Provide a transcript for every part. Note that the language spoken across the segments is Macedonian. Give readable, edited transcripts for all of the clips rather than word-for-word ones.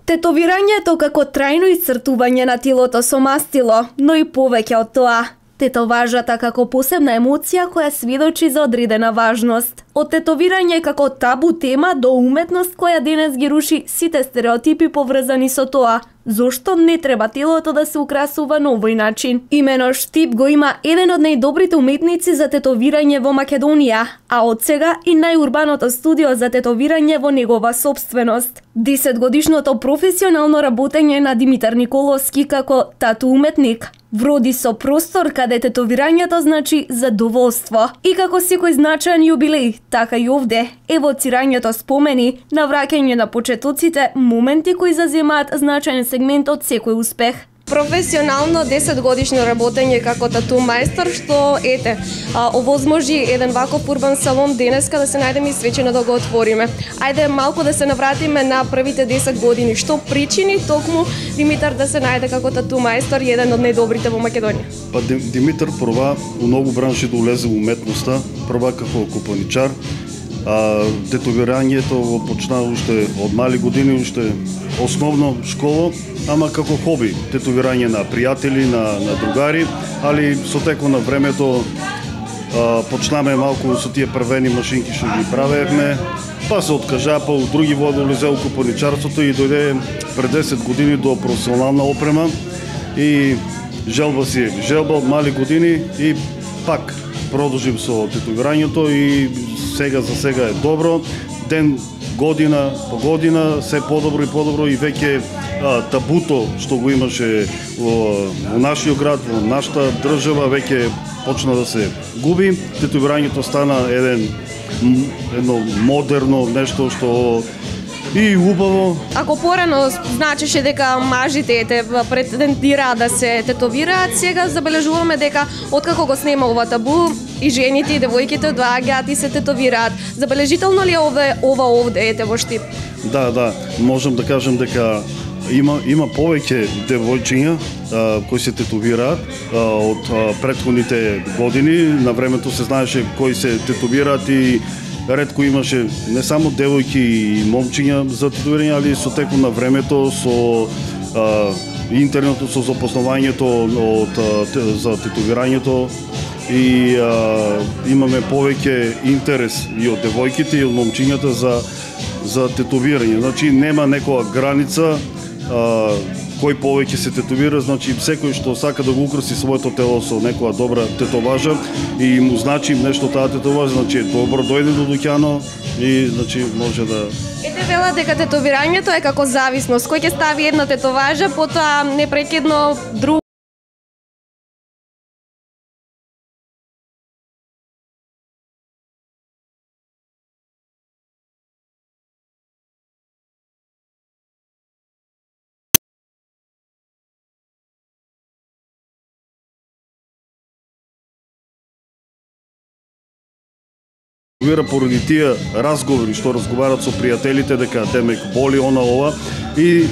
Тетовирањето како трајно исцртување на телото со мастило, но и повеќе од тоа. Тетоважата како посебна емоција која сведочи за одредена важност. Од тетовирање како табу тема до уметност која денес ги руши сите стереотипи поврзани со тоа. Зошто не треба телото да се украсува на овој начин? Имено Штип го има еден од најдобрите уметници за тетовирање во Македонија, а од сега и најурбаното студио за тетовирање во негова собственост. 10-годишното професионално работење на Димитар Николовски како тату уметник вроди со простор каде тетовирањето значи задоволство. И како секој значаен јубилеј, така и овде, евоцирањето спомени, навраќање на почетоците, моменти кои заземаат значаен сегмент од секој успех. Професионално 10 годишно работење како тату мајстор, што овозможи еден ваков урбан салон денеска да се најдеме и свечено да го отвориме. Ајде малку да се навратиме на првите 10 години. Што причини токму Димитар да се најде како тату мајстор и еден од најдобрите во Македонија? Па Димитар проба у многу бранши да улезе во уметноста, проба како копаничар. Тетовирањето го почна уште од мали години, уште основно школа, ама како хоби. Тетовирање на пријатели, на другари, али со текот на времето почнаме малку со тие првени машинки што ги правевме, па се откажа, па у други води улезе у копаничарството и дојде пред 10 години до професионална опрема и желба од мали години и пак продолжим со тетовирањето и сега за сега е добро. Ден, година по година се подобро и веќе табуто што го имаше во нашиот град, во нашата држава веќе почна да се губи. Тетовирањето стана едно модерно нешто што и убаво. Ако порано значеше дека мажите претендираат да се тетовираат, сега забележуваме дека откако го снема ова табу и жените и девојките доаѓаат и се тетовираат. Забележително ли е ова овде во Штип? Да, можам да кажам дека има повеќе девојчиња кои се тетовираат од претходните години. На времето се знаеше кои се тетовираат и ретко имаше не само девојки и момчиња за тетовирање, али со текот на времето, со интернетот, со запознавањето за тетовирањето и имаме повеќе интерес и од девојките и од момчињата за тетовирање. Значи нема некоја граница кој повеќе се тетовира, значи секој што сака да го украси своето тело со некоја добра тетоважа и му значи нешто таа тетоважа, значи добро дојде до дуќано и значи може да... Ете вела дека тетовирањето е како зависност. Кој ќе стави една тетоважа, потоа непрекидно друг поради тие разговори што разговарат со пријателите дека демек боли ова и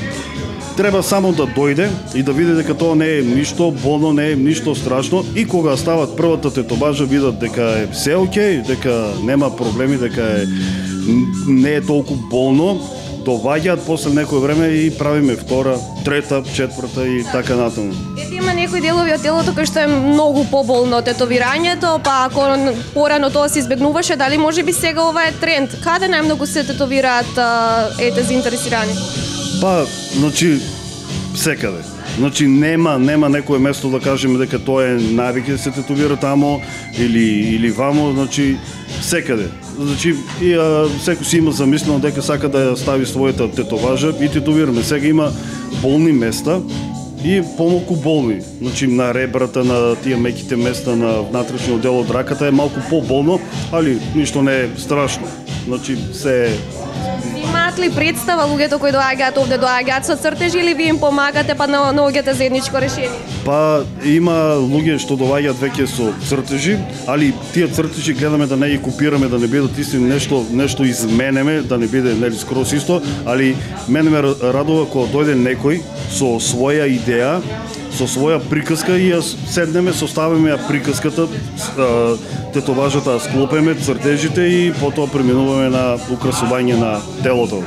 треба само да дојде и да види дека тоа не е ништо болно, не е ништо страшно и кога стават првата тетоважа видат дека е се окей, дека нема проблеми, дека не е толку болно, доваѓаат после некој време и правиме втора, трета, четврта и така натаму. Има некои делови од телото кои што е многу поболно од тетовирањето, па ако порано тоа се избегнуваше, дали можеби сега ова е тренд? Каде најмногу се тетовираат заинтересирани? Па, значи секаде. Значи нема некое место да кажеме дека тоа е навик да се тетовира тамо или вамо, значи секаде. Значи и секој си има замислено дека сака да ја стави својата тетоважа и тетовираме. Сега има болни места и помалку болни. Значи на ребрата, на тие меките места на внатрешниот дел од раката е малку поболно, али ништо не е страшно. Значи се Имаат ли представа луѓето кои доаѓаат овде, доаѓаат со цртежи или ви им помагате па наоѓате заедничко решение? Па има луѓе што доаѓаат веќе со цртежи, али тие цртежи гледаме да не ги копираме, да не бидат исти, нешто изменеме, да не биде нели скроз исто, али мене ме радува кога дојде некој со своја идеја, со своја приказка и ја седнеме, составиме ја приказката, тетоважата склопеме, цртежите и потоа преминуваме на украсување на телото.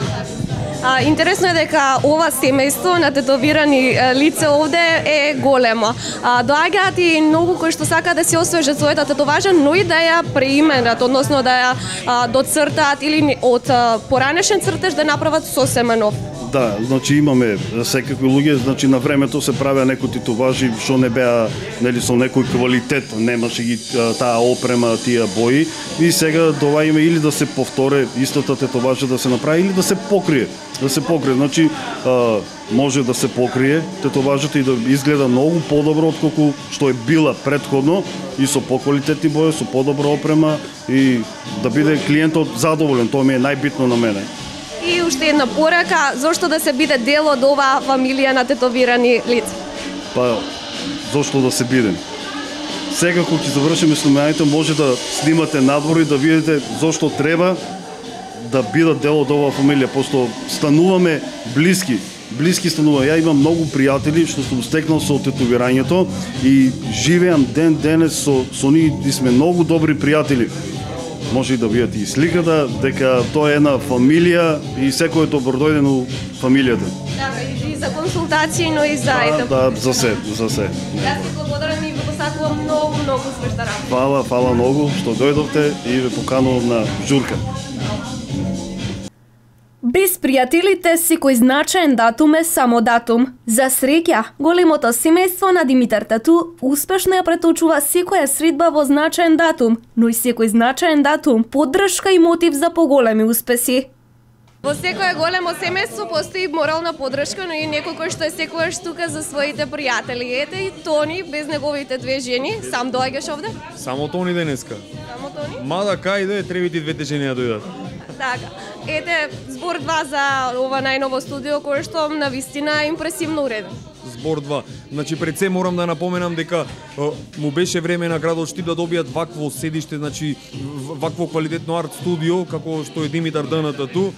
Интересно е дека ова семејство на тетовирани лица овде е големо. Доаѓаат и многу кои што сакаат да се освежат својата тетоважа, но и да ја преименат, односно да ја доцртаат или од поранешен цртеж да направат сосема нов. Да, значи имаме секакви луѓе, значи на времето се правеа некои тетоважи што не беа, нели, со некој квалитет, немаше ги таа опрема, тие бои, и сега доваѓаме или да се повторе истата тетоважа да се направи или да се покрие. Да се покрие, значи може да се покрие тетоважата и да изгледа многу подобро отколку што е била претходно и со поквалитетни бои, со подобра опрема и да биде клиентот задоволен, тоа ми е најбитно на мене. И уште една порака, зошто да се биде дел од оваа фамилија на тетовирани лица? Па, зошто да се бидем? Сега кога ќе завршиме снимањето, може да снимате надвор и да видите зошто треба да бидат дел од оваа фамилија, пошто стануваме блиски стануваме. Ја имам многу пријатели што сум стекнал со тетовирањето и живеам ден денес со нив и сме многу добри пријатели. Може и да видите и сликата, дека тоа е една фамилија и секој е добродојден у фамилијата. Да, и за консултации, но и за Да, за се. Јас ти благодарам и ви посакувам многу успешна работа. Фала многу што дојдовте и ве поканувам на журка. Без пријателите секој значаен датум е само датум. За среќа, големото семејство на Димитар Тату успешно ја преточува секоја средба во значаен датум, но и секој значаен датум поддршка и мотив за поголеми успеси. Во секое големо семејство постои морална поддршка, но и некој кој што е секогаш тука за своите пријатели. Ете и Тони, без неговите две жени, сам доаѓаш овде? Само Тони денеска. Само Тони? Мада кај да требите двете жени да дојдат. Така. Ете, збор 2 за ова најново студио кое што навистина импресивно уреден. Збор 2. Значи пред се морам да напоменам дека му беше време на градот Штип да добијат вакво седиште, значи вакво квалитетно арт студио како што е Димитар Д.Н. Тату.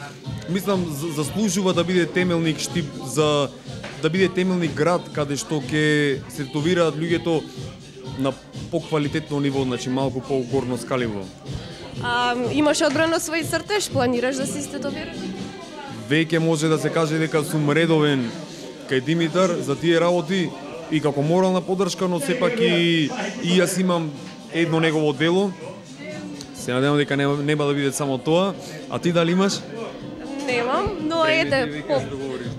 Мислам заслужува да биде темелник Штип, за да биде темелник град каде што ќе се тетовираат луѓето на поквалитетно ниво, значи малку по-горно скаливо. Имаш одбрано свој цртеж, планираш да се тетовираш? Веќе може да се каже дека сум редовен кај Димитар за тие работи и како морална поддршка, но сепак и јас имам едно негово дело. Се надевам дека нема да биде само тоа. А ти дали имаш? Немам, но ете,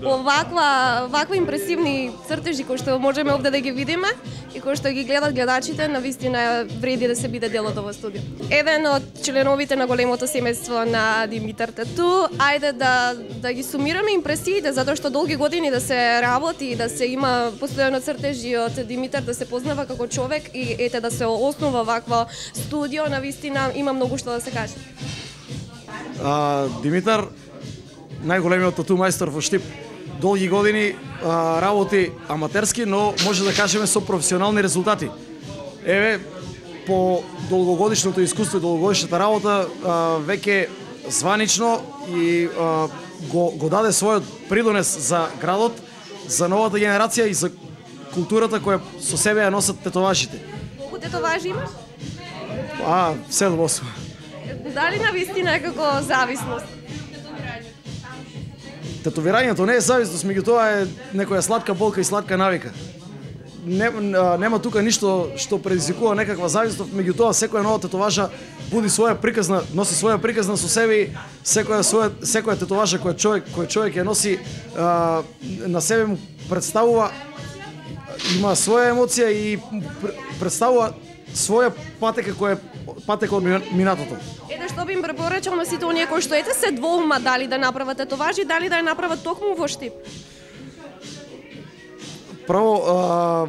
по ваква импресивни цртежи кои што можеме овде да ги видиме и кои што ги гледат гледачите, навистина вреди да се биде дел од ова студио. Еден од членовите на големото семејство на Димитар Тату, ајде да ги сумираме импресиите, затоа што долги години да се работи и да се има постојано цртежи од Димитар, да се познава како човек и ете да се основа вакво студио, навистина има многу што да се каже. Димитар, најголемиот тату мајстор во Штип, долги години работи аматерски, но може да кажеме со професионални резултати. Еве, по долгогодишното искуство и долгогодишната работа, веќе званично и го даде својот придонес за градот, за новата генерација и за културата која со себе ја носат тетоважите. Колку тетоважи имаш? 7-8. Дали навистина е како зависност? Тетовирањето не е зависност, меѓутоа е некоја сладка болка и сладка навика. Нема тука ништо што предизвикува некаква зависност, меѓутоа секоја нова тетоважа буди своја приказна, носи своја приказна со себе и секоја тетоважа кој човек ја носи на себе му представува, има своја емоција и представува своја патека од минатото. Ете што би им препорачал на сите оние кои што ете се двоумат дали да направат тетоважи, дали да ја направат токму во Штип. Прво,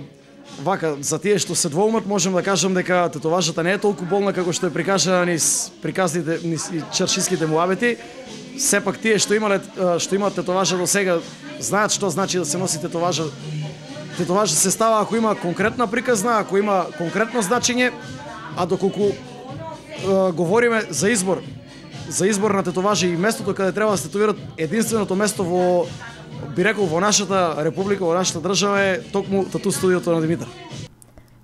вака, за тие што се двоумат, можем да кажам дека тетоважата не е толку болна како што е прикажана низ приказните, низ чаршиските муабети. Сепак тие што имаат тетоважа до сега знаат што значи да се носи тетоважа. Тетоважа се става ако има конкретна приказна, ако има конкретно значење, а доколку говориме за избор на тетоважи и местото каде треба да се тетовират, единственото место би рекол во нашата република, во нашата држава е токму тату студиото на Димитар.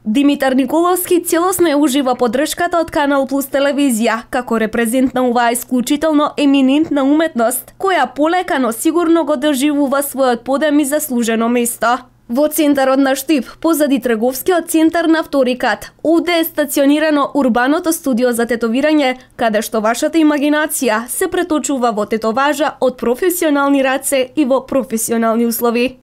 Димитар Николовски целосно ја ужива поддршката од Канал Плюс телевизија, како репрезент на оваа исклучително еминентна уметност, која полека, но сигурно го доживува својот подем и заслужено место. Во центарот на Штип, позади трговскиот центар на втори кат, овде е стационирано урбаното студио за тетовирање, каде што вашата имагинација се преточува во тетоважа од професионални раце и во професионални услови.